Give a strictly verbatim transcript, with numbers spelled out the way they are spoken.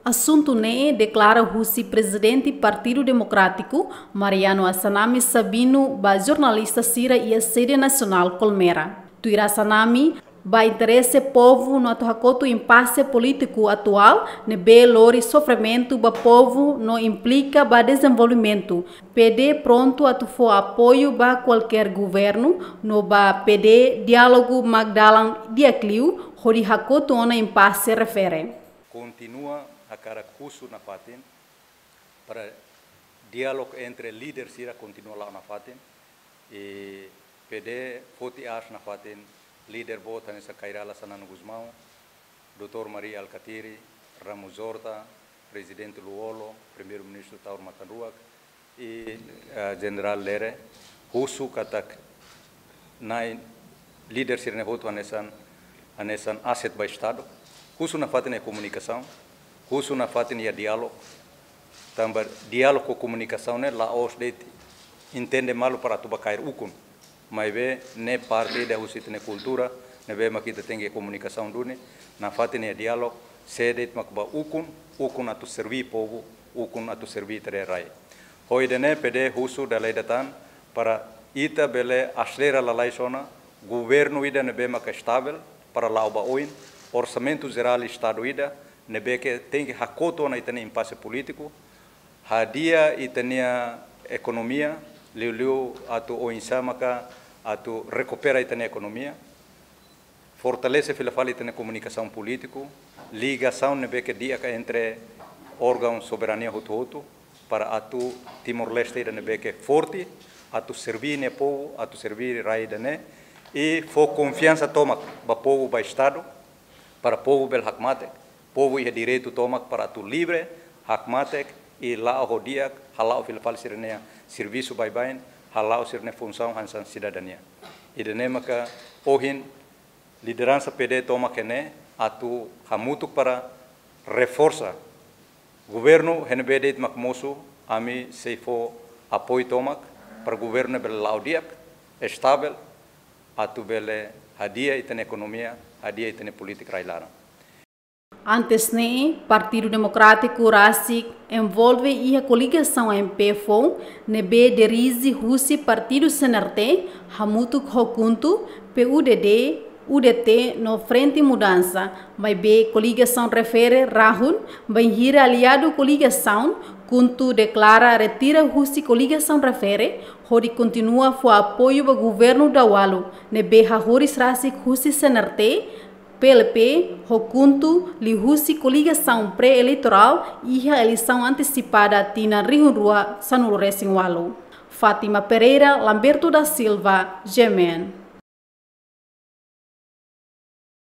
Asuntu ne'e deklara husi Prezidente Partidu Demokrátiku, Mariano Assanami Sabino, ba jornalista sira iha sede nasionál Colmera. Tuir Assanami, ba interese povu no atu hakotu impase polítiku atuál ne'ebé lori sofrimentu ba povu no implika ba dezenvolvimentu, P D prontu atu fó apoiu ba kualkér governu no ba P D diálogu mak dalan di'ak liu hodi hakotu ona impase refere. Kontinua hakarak husu nafatin para diálogu entre líder sira kontinua la'o nafatin. I P D foti aas nafatin líder boot hanesan Kay Rala Xanana Gusmão, doutór Mari Alkatiri, Ramos Horta, Prezidente Lú-Olo, Primeiru-Ministru Taur Matan Ruak, i, eh, Jenerál Lere, husu katak Nai líder sira-ne'e hotu hanesan, hanesan aset ba Estadu. Husu nafatin iha komunikasaun, husu nafatin iha diálogu. Tanba diálogu ho komunikasaun ne'e la'ós de'it entende malu para atu ba kaer ukun. Maibé ne'e parte ida husi ita-nia kultura, ne'ebé mak ita tenke komunikasaun duni, nafatin iha diálogu, sé de'it mak ba ukun, ukun atu serví povu, ukun atu serví ita-nia rai. Ho ida-ne'e P D husu dala ida tan para ita bele aselera lalais ona governu ida ne'ebé maka estavel para la'o ba oin, orsamentu jerál Estadu ida ne'ebé ke tenke hakotu ona ita-nia impase polítiku, hadi'a ita-nia ekonomia, liuliu atu oinsá maka atu rekupera ita-nia ekonomia, fortalese fila fali ita-nia komunikasaun polítiku, ligasaun ne'ebé ke di'ak entre órgaun soberania hotu-hotu, para atu Timor-Leste ida ne'ebé ke forte, atu serví nia povu, atu serví rai ida-ne'e, i fó konfiansa tomak ba povu, ba Estadu, para povu bele hakmatek, povu iha direitu tomak para atu livre, hakmatek, i la'o ho di'ak, hala'o fila fali sira-nia servisu baibain, hala'o sira-nia funsaun hanesan sidadania. Ida-ne'e maka ohin lideransa P D tomak iha ne'e atu hamutuk para reforsa. Governu iha ne'ebé de'it mak mosu, ami sei fó apoiu tomak para governu bele la'o di'ak, estavel, atu bele hadi'a ita-nia ekonomia, hadi'a ita-nia polítika rai-laran. Antes ne'e, Partidu Demokrátiku rasik envolve iha koligasaun M P foun, ne'ebé dirije husi Partidu C N R T, hamutuk ho KHUNTO, P U D D, U D T no Frente Mudansa, maibé koligasaun refere rahun, bainhira aliadu koligasaun, KHUNTO deklara retira husi koligasaun refere, hodi kontinua fó apoiu ba governu Daualu, ne'ebé hahoris rasik husi C N R T, P L P, ho KHUNTO, liuhusi koligasaun pré-eleitorál, iha eleisaun antesipada tinan rihun rua sanulu resin ualu. Fátima Pereira, Lamberto da Silva, G M N.